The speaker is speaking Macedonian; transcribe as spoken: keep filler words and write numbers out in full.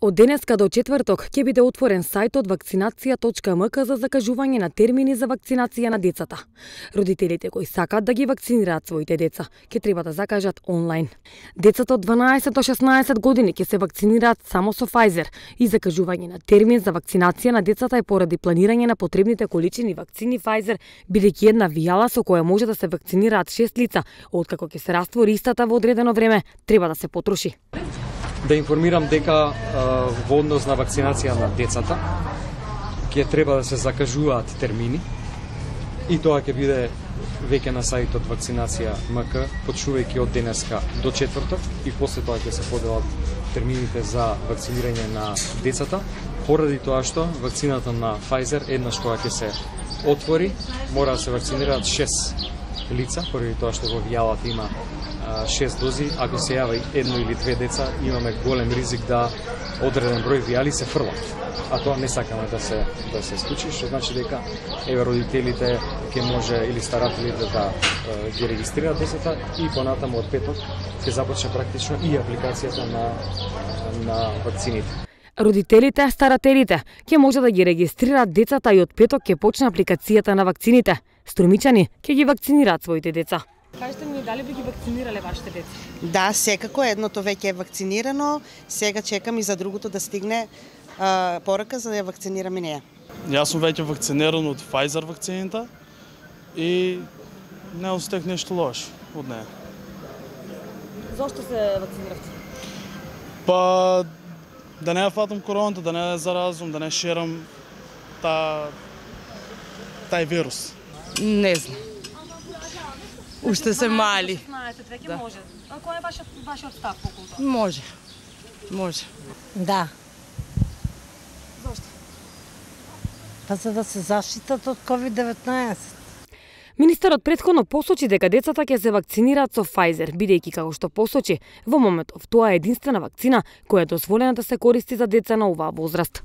Од денеска до четврток ќе биде отворен сајтот вакцинација точка ем ка за закажување на термини за вакцинација на децата. Родителите кои сакаат да ги вакцинираат своите деца, ќе треба да закажат онлайн. Децата од дванаесет до шеснаесет години ќе се вакцинираат само со Pfizer и закажување на термин за вакцинација на децата е поради планирање на потребните количини вакцини Pfizer, бидејќи една вијала со која може да се вакцинираат шест лица, откако ќе се раствори истата во одредено време, треба да се потроши. Да информирам дека во однос на вакцинација на децата ќе треба да се закажуваат термини и тоа ќе биде веќе на сајтот вакцинација точка ем ка, почнувајќи од денеска до четврток и после тоа ќе се поделат термините за вакцинирање на децата, поради тоа што вакцината на Pfizer еднаш кога ќе се отвори, мора да се вакцинираат шест лица, поради тоа што во вијалата има шест дози. Ако се јави едно или две деца, имаме голем ризик да одреден број вијали се фрлат. А тоа не сакаме да се да се случи, што значи дека еве родителите ќе може или старателите да е, ги регистрираат децата и понатаму од петок ќе започне практично и апликацијата на на вакцините. Родителите, старателите ќе може да ги регистрираат децата и од петок ќе почне апликацијата на вакцините. Струмичани ќе ги вакцинираат своите деца. Кажете ми, дали би ги вакцинирале вашите деца? Да, секако едното веќе е вакцинирано, сега чекам и за другото да стигне а, порака за да ја вакцинирам и неја. Јас сум веќе вакциниран од Pfizer вакцината и не остек нешто лошо од неја. Зошто се вакциниравте? Па да не ја фатам короната, да не ја заразум, да не шерам та тај вирус. Не знам. Уште се мали. шеснаесет веќе може. А кој е вашиот вашиот став околу тоа? Може. Може. Да. Зошто? Па за да се заштитат од ковид деветнаесет. Министерот претходно посочи дека децата ќе се вакцинираат со Pfizer, бидејќи како што посочи, во моментов тоа е единствена вакцина која е дозволена да се користи за деца на оваа возраст.